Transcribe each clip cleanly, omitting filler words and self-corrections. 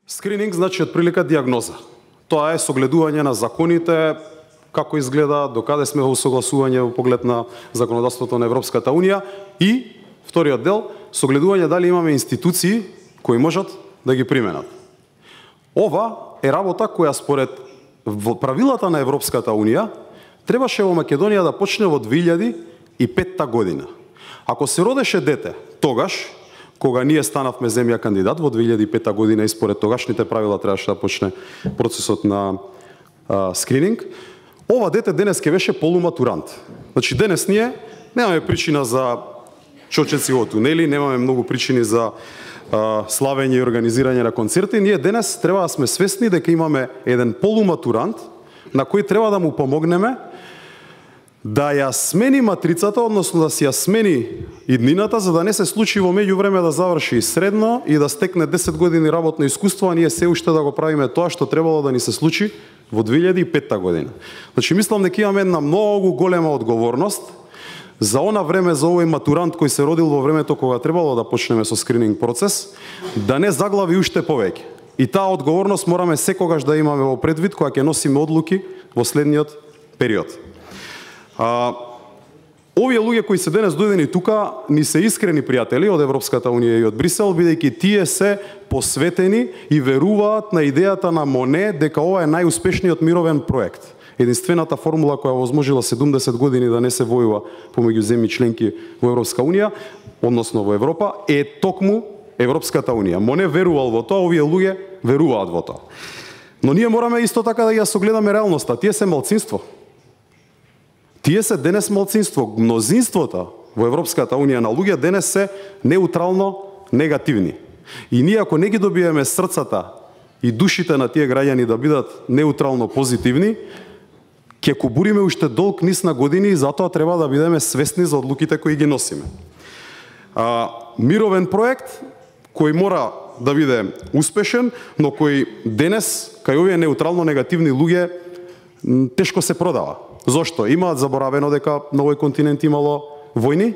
Скрининг значи отприлика диагноза. Тоа е согледување на законите, како изгледа, докаде сме во согласување во поглед на законодавството на Европската Унија и вториот дел, согледување дали имаме институции кои можат да ги применат. Ова е работа која според правилата на Европската Унија требаше во Македонија да почне во 2005 година. Ако се родеше дете тогаш, кога ние станавме земја кандидат во 2005 година и според тогашните правила требаше да почне процесот на скрининг, ова дете денес ке беше полуматурант. Значи денес ние немаме причина за чочеци во тунели, немаме многу причини за славење и организирање на концерти. Ние денес треба да сме свесни дека имаме еден полуматурант на кој треба да му помогнеме да ја смени матрицата, односно да си ја смени иднината, за да не се случи во меѓувреме да заврши средно и да стекне 10 години работно искуство, а ние се уште да го правиме тоа што требало да ни се случи во 2005 година. Значи мислам дека имаме една многу голема одговорност за она време, за овој матурант кој се родил во времето кога требало да почнеме со скрининг процес, да не заглави уште повеќе. И таа одговорност мораме секогаш да имаме во предвид кога ќе носиме одлуки во следниот период. Овие луѓе кои се денес дојдени тука ни се искрени пријатели од Европската Унија и од Брисел, бидејќи тие се посветени и веруваат на идејата на Моне дека ова е најуспешниот мировен проект. Единствената формула која возможила 70 години да не се војува помеѓу земји членки во Европска Унија, односно во Европа, е токму Европската Унија. Моне верувал во тоа, овие луѓе веруваат во тоа. Но ние мораме исто така да ја согледаме реалноста. Тие се малцинство. Тие се денес малцинство. Мнозинството во Европската Унија на луѓе денес се неутрално негативни. И ние ако не ги добиеме срцата и душите на тие граѓани да бидат неутрално позитивни, ќе кубуриме уште долг низ на години и затоа треба да бидеме свесни за одлуките кои ги носиме. Мировен проект кој мора да биде успешен, но кој денес кај овие неутрално негативни луѓе тешко се продава. Зошто? Имаат заборавено дека на овој континент имало војни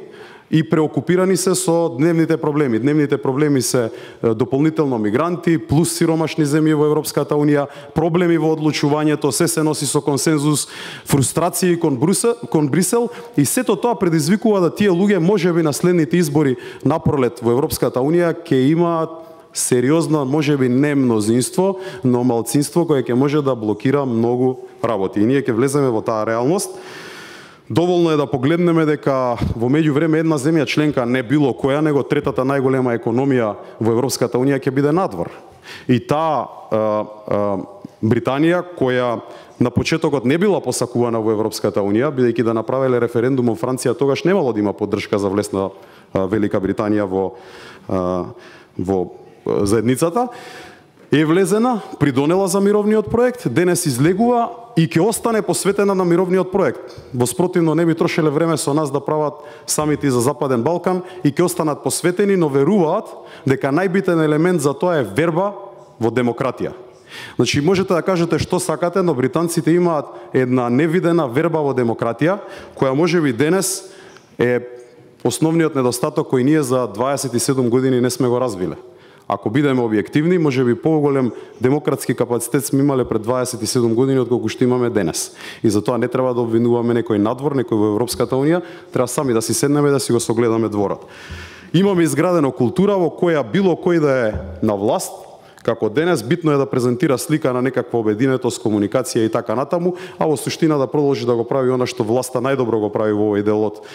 и преокупирани се со дневните проблеми. Дневните проблеми се дополнително мигранти, плюс сиромашни земји во Европската Унија, проблеми во одлучувањето, се носи со консензус, фрустрации кон Брисел и сето тоа предизвикува да тие луѓе можеби на следните избори напролет во Европската Унија ќе имаат сериозно, можеби не мнозинство, но малцинство кое ќе може да блокира многу работи. И ние ќе влеземе во таа реалност. Доволно е да погледнеме дека во меѓувреме една земја членка, не било која, него третата најголема економија во Европската Унија ќе биде надвор. И таа Британија, која на почетокот не била посакувана во Европската Унија, бидејќи да направиле референдум во Франција, тогаш немало да има поддршка за влез на Велика Британија во заедницата, е влезена, придонела за мировниот проект, денес излегува и ќе остане посветена на мировниот проект. Во спротивно не би трошеле време со нас да прават самити за Западен Балкан и ќе останат посветени, но веруваат дека најбитен елемент за тоа е верба во демократија. Значи можете да кажете што сакате, но британците имаат една невидена верба во демократија, која можеби денес е основниот недостаток кој ние за 27 години не сме го развиле. Ако бидеме објективни, можеби поголем демократски капацитет сме имале пред 27 години отколку што имаме денес. И затоа не треба да обвинуваме некој надвор, некој во Европската Унија, треба сами да си седнеме да си го согледаме дворот. Имаме изградено култура во која било кој да е на власт, како денес, битно е да презентира слика на некаква обединетост, комуникација и така натаму, а во суштина да продолжи да го прави она што власта најдобро го прави во овој дел од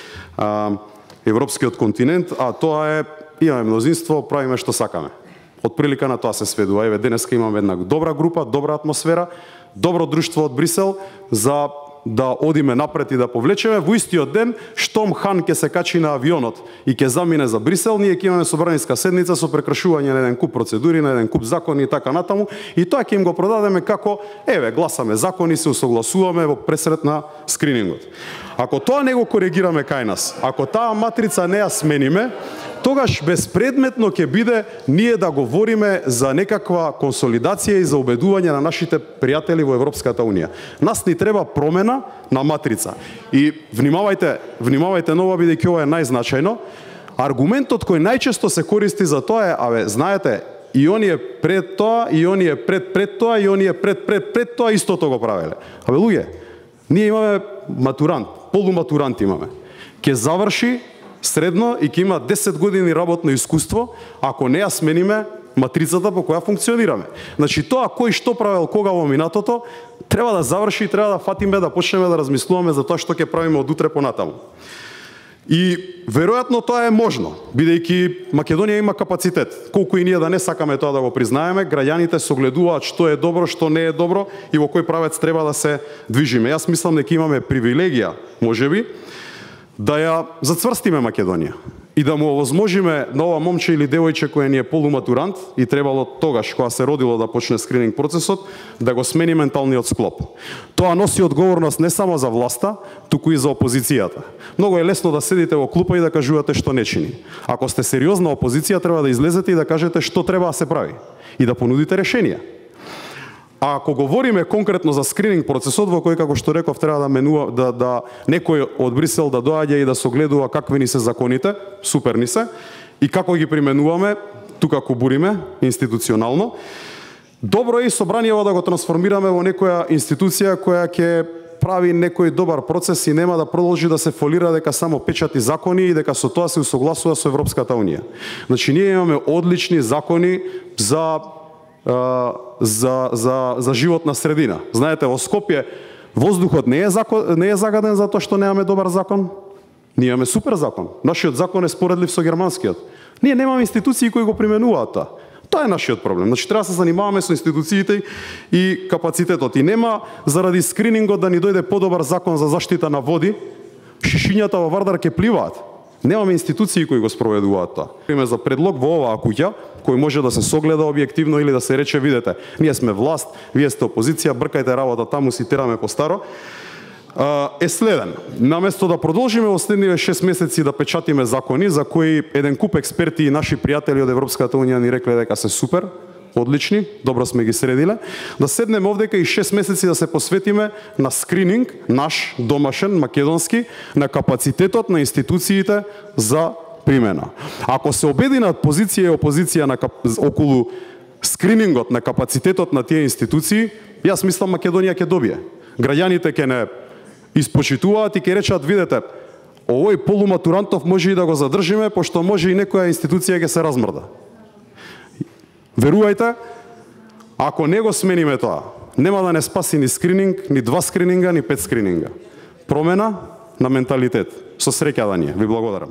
европскиот континент, а тоа е имаме мнозинство, правиме што сакаме. Од прилика на тоа се сведува. Еве денеска имаме една добра група, добра атмосфера, добро друштво од Брисел за да одиме напред и да повлечеме. Во истиот ден, штом Хан ќе се качи на авионот и ќе замине за Брисел, ние ќе имаме собраниска седница со прекршување на еден куп процедури, на еден куп закони и така натаму, и тоа ќе им го продадеме како еве гласаме закони, се усогласуваме во пресрет на скринингот. Ако тоа не го коригираме кај нас, ако таа матрица не ја смениме, тогаш безпредметно ќе биде ние да говориме за некаква консолидација и за убедување на нашите пријатели во Европската Унија. Нас ни треба промена на матрица. И внимавајте ново, бидејќи ова е најзначајно. Аргументот кој најчесто се користи за тоа е, знаете, и оние пред тоа, и оние пред тоа, и оние пред тоа истото го правеле. Абе луѓе, ние имаме матурант, полуматурант имаме. Ке заврши средно и ќе има 10 години работно искуство, ако не ја смениме матрицата по која функционираме. Значи тоа кој што правел кога во минатото, треба да заврши и треба да фатиме да почнеме да размислуваме за тоа што ќе правиме од утре понатаму. И веројатно тоа е можно, бидејќи Македонија има капацитет. Колку и ние да не сакаме тоа да го признаеме, граѓаните согледуваат што е добро, што не е добро и во кој правец треба да се движиме. Јас мислам дека имаме привилегија, можеби, да ја зацврстиме Македонија и да му овозможиме на ова момче или девојче кој ни е полуматурант и требало тогаш кога се родило да почне скрининг процесот, да го смени менталниот склоп. Тоа носи одговорност не само за власта, туку и за опозицијата. Многу е лесно да седите во клупа и да кажувате што не чини. Ако сте сериозна опозиција, треба да излезете и да кажете што треба да се прави и да понудите решенија. А ако говориме конкретно за скрининг процесот во кој, како што реков, треба да менува да некој од Брисел да доаѓа и да согледува какви ни се законите, супер ни се, и како ги применуваме, тука кубуриме институционално. Добро е и собраниево да го трансформираме во некоја институција која ќе прави некој добар процес и нема да продолжи да се фолира дека само печати закони и дека со тоа се усогласува со Европската унија. Значи ние имаме одлични закони за животна средина. Знаете, во Скопје воздухот не е загаден затоа што немаме добар закон. Ние имаме супер закон. Нашиот закон е споредлив со германскиот. Ние немаме институции кои го применуваат тоа. Тоа е нашиот проблем. Значи треба да се занимаваме со институциите и капацитетот. И нема заради скринингот да ни дојде подобар закон за заштита на води, шишињата во Вардар ќе пливаат. Немаме институции кои го спроведуваат тоа. Име за предлог во оваа куќа, кој може да се согледа објективно или да се рече, видете, ние сме власт, вие сте опозиција, бркајте работа таму, си тераме по старо, е следен. Наместо да продолжиме во следниве 6 месеци да печатиме закони за кои еден куп експерти и наши пријатели од Европската унија ни рекле дека се супер, одлични, добро сме ги средиле, да седнеме овдека и 6 месеци да се посветиме на скрининг, наш, домашен, македонски, на капацитетот на институциите за примена. Ако се обединат позиција и опозиција околу скринингот на капацитетот на тие институции, јас мислам Македонија ќе добие. Граѓаните ќе не испочитуваат и ќе речат, видете, овој полуматурантов може и да го задржиме, пошто може и некоја институција ќе се размрда. Верувајте, ако не го смениме тоа, нема да не спаси ни скрининг, ни 2 скрининга, ни 5 скрининга. Промена на менталитет. Со среќа да ни е. Ви благодарам.